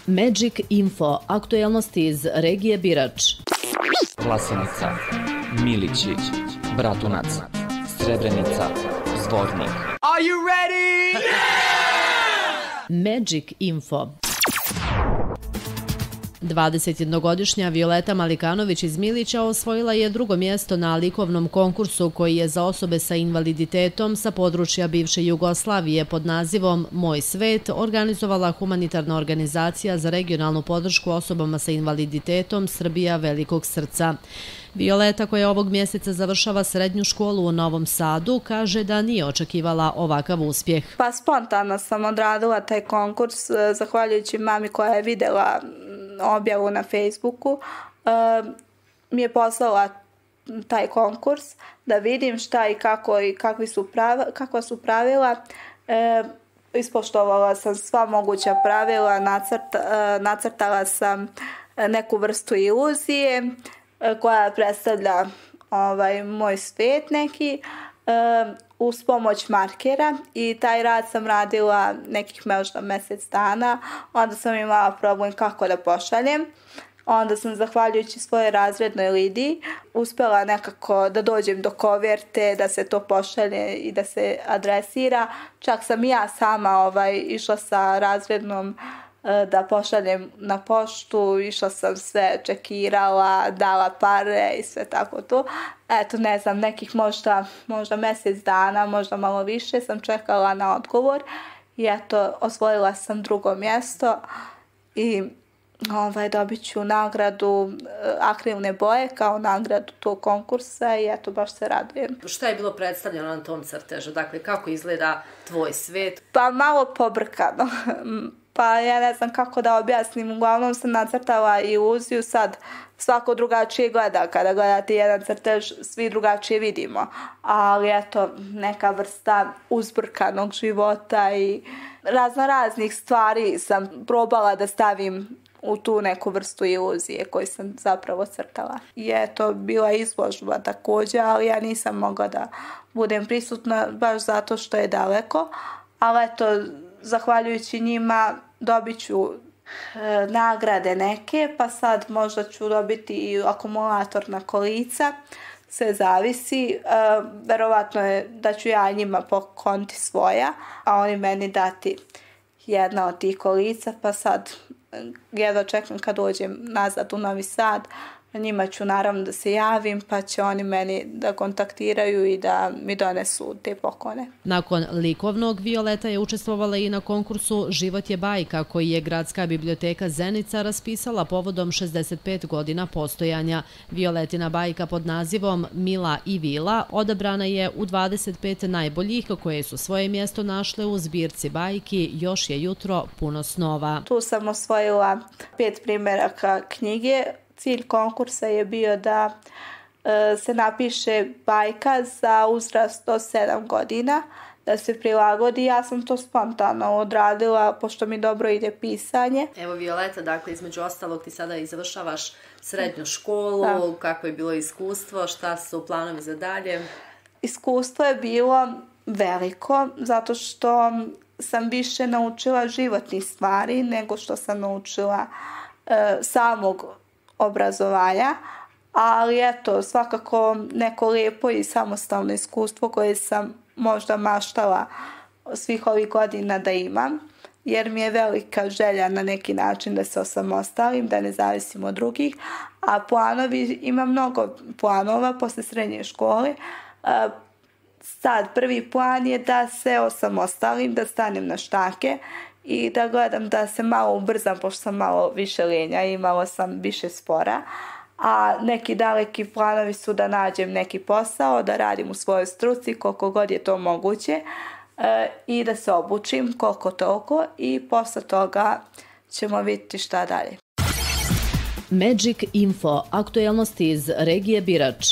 Magic Info, aktuelnosti iz regije Birač. Vlasenica, Milići, Bratunac, Srebrenica, Zvornik. Are you ready? Magic Info. 21-godišnja Violeta Malikanović iz Milića osvojila je drugo mjesto na likovnom konkursu koji je za osobe sa invaliditetom sa područja bivše Jugoslavije pod nazivom Moj svet organizovala humanitarna organizacija za regionalnu podršku osobama sa invaliditetom Srbija velikog srca. Violeta, koja ovog mjeseca završava srednju školu u Novom Sadu, kaže da nije očekivala ovakav uspjeh. Pa spontano sam odradila taj konkurs, zahvaljujući mami koja je vidjela objavu na Facebooku, mi je poslala taj konkurs da vidim šta i kako i kakva su pravila. Ispoštovala sam sva moguća pravila, nacrtala sam neku vrstu iluzije koja predstavlja moj svet neki uz pomoć markera i taj rad sam radila nekih možda mjesec dana. Onda sam imala problem kako da pošaljem. Onda sam, zahvaljujući svojoj razrednoj Lidiji, uspjela nekako da dođem do koverte, da se to pošalje i da se adresira. Čak sam i ja sama išla sa razrednom da pošaljem na poštu, išla sam sve, čekirala, dala pare i sve tako to. Eto, ne znam, nekih možda mjesec dana, možda malo više sam čekala na odgovor i eto, osvojila sam drugo mjesto i dobit ću nagradu akrilne boje kao nagradu tog konkursa i eto, baš se radujem. Šta je bilo predstavljeno na tom crtežu? Dakle, kako izgleda tvoj svet? Pa malo pobrkano. Pa ja ne znam kako da objasnim, uglavnom sam nacrtala iluziju, sad svako drugačije gleda, kada gledate jedan crtež svi drugačije vidimo, ali eto neka vrsta uzburkanog života i raznih stvari sam probala da stavim u tu neku vrstu iluzije koju sam zapravo crtala. I eto, bila izložba također, ali ja nisam mogla da budem prisutna baš zato što je daleko, ali eto, zahvaljujući njima dobit ću nagrade neke, pa sad možda ću dobiti i akumulator na kolica, sve zavisi. Verovatno je da ću ja njima pokloniti svoja, a oni meni dati jedna od tih kolica, pa sad jedva čekam kad dođem nazad u Novi Sad. Njima ću naravno da se javim, pa će oni meni da kontaktiraju i da mi donesu te poklone. Nakon likovnog, Violeta je učestvovala i na konkursu Život je bajka, koji je Gradska biblioteka Zenica raspisala povodom 65 godina postojanja. Violetina bajka pod nazivom Mila i Vila odabrana je u 25 najboljih koje su svoje mjesto našle u zbirci bajki Još je jutro puno snova. Tu sam osvojila 5 primjeraka knjige. Cilj konkursa je bio da se napiše bajka za uzrast do 7 godina, da se prilagodi. Ja sam to spontano odradila, pošto mi dobro ide pisanje. Evo Violeta, dakle, između ostalog ti sada i završavaš srednju školu, kako je bilo iskustvo, šta su planovi za dalje? Iskustvo je bilo veliko, zato što sam više naučila životnih stvari nego što sam naučila samog obrazovanja, ali eto, svakako neko lijepo i samostalno iskustvo koje sam možda maštala svih ovih godina da imam, jer mi je velika želja na neki način da se osamostalim, da ne zavisim od drugih, a planovi, imam mnogo planova posle srednje škole. Sad, prvi plan je da se osamostalim, da stanem na štake i da gledam da se malo ubrzam, pošto sam malo više lenja i malo sam više spora. A neki daleki planovi su da nađem neki posao, da radim u svojoj struci koliko god je to moguće i da se obučim koliko toliko i posle toga ćemo vidjeti šta dalje. Magic Info, aktuelnosti iz regije Birač.